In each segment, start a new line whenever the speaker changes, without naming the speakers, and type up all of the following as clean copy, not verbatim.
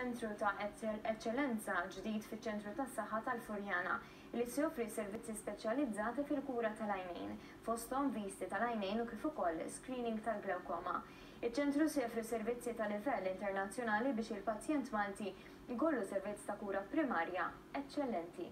ċentru ta' eċċellenza ġdid fiċ-Ċentru tas-Saħħa tal-Furjana li se joffri servizzi speċjalizzati fil-kura tal-għajnejn, fosthom visti tal-għajnejn u kif ukoll screening tal-glawkoma. Iċ-ċentru se joffri servizzi ta' livell internazzjonali biex il-pazjent Malti jkollu servizz ta' kura primarja eċċellenti.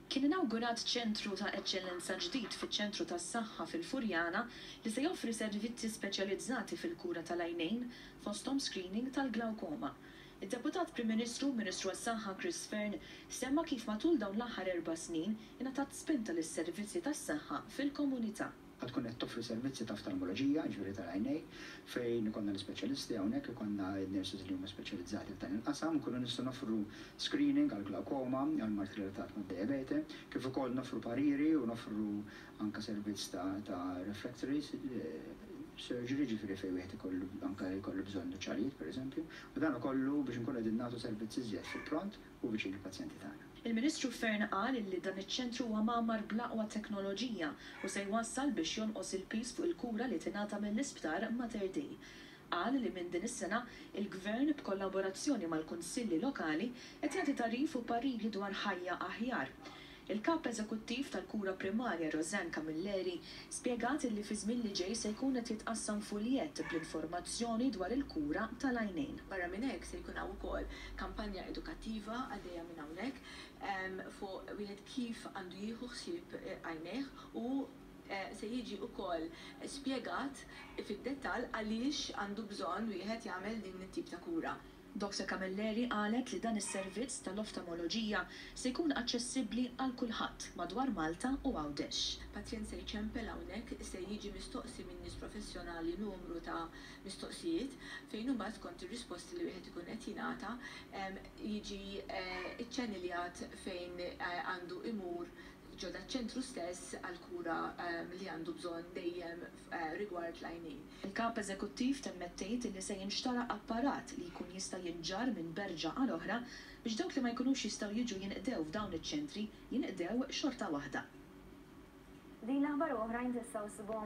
Kien inawgurat ċentru ta' eċċellenza ġdid fiċ-Ċentru tas-Saħħa fil-Furjana li se joffri servizzi speċjalizzati fil-kura tal-għajnejn, fosthom screening tal-glawkoma. Id-Deputat Prim Ministru u Ministru għas-Saħħa Chris Fearne semma kif matul dawn l-aħħar erba' snin ingħatat spinta lis-servizzi tas-saħħa fil-komunità.
Ħa tkun qed toffri servizzi ta' oftalmoloġija, jiġifieri tal-għajnejn, fejn ikollna l-ispeċjalisti hawnhekk, ikollna n-nurses li huma speċjalizzati f'dan il-qasam, nkunu nistgħu noffru screening għal glaucoma, għal mard relatat mad-diabete, kif ukoll noffru pariri u noffru anke servizz ta' ta' refractory surgery, ġifieri fejn wieħed ikollu anke jkollu bżonn nuċċalijiet pereżempju, u dan ukollu biex inkunu qegħdin nagħtu servizz iżjed fil-pront u viċin il-pazjenti tagħna.
Il-Ministru Fearne qal li dan iċ-ċentru huwa mgħammar bl-aqwa teknoloġija u se jwassal biex jonqos il-piż fuq il-kura li tingħata mill-Isptar Mater Dei. Qal li minn din is-sena il-Gvern b'kollaborazzjoni mal-kunsilli lokali qed jagħti tagħrif u pariri dwar ħajja aħjar. Il-Kap Eżekuttiv tal-Kura Primarja Rosanne Camilleri spjegat li fi żmien li ġej se jkun qed jitqassam fuljett bl-informazzjoni dwar il-kura tal-għajnejn.
Barra minn hekk se jkun hawn ukoll kampanja edukattiva għaddejja minn hawnhekk fuq wieħed kif għandu jieħu ħsieb għajnejh u se jiġi wkoll spjegat fid-dettall għaliex għandu bżonn wieħed jagħmel din it-tip ta' kura.
Dr. Camilleri qalet li dan is-servizz tal-oftalmoloġija se jkun aċċessibbli għal kulħadd madwar Malta u Għawdex.
Pazjent se jċempel hawnhekk, se jiġi mistoqsi minn nies professjonali numru ta' mistoqsijiet fejn imbagħad skont ir-risposti li wieħed ikun qed jingħata jiġi ċċaniljat fejn għandu imur ġo daċ-ċentru stess għall-kura li għandu bżonn dejjem rigward l-għajnejn.
Il-kap eżekuttiv temmet tgħid li se jinxtara apparat li jkun jista' jinġarr minn berġa għal oħra biex dawk li ma jkunux jistgħu jiġu jinqdew f'dawn iċ-ċentri jinqdew xorta waħda.
Din l-aħbar u oħrajn tistgħu ssibuhom.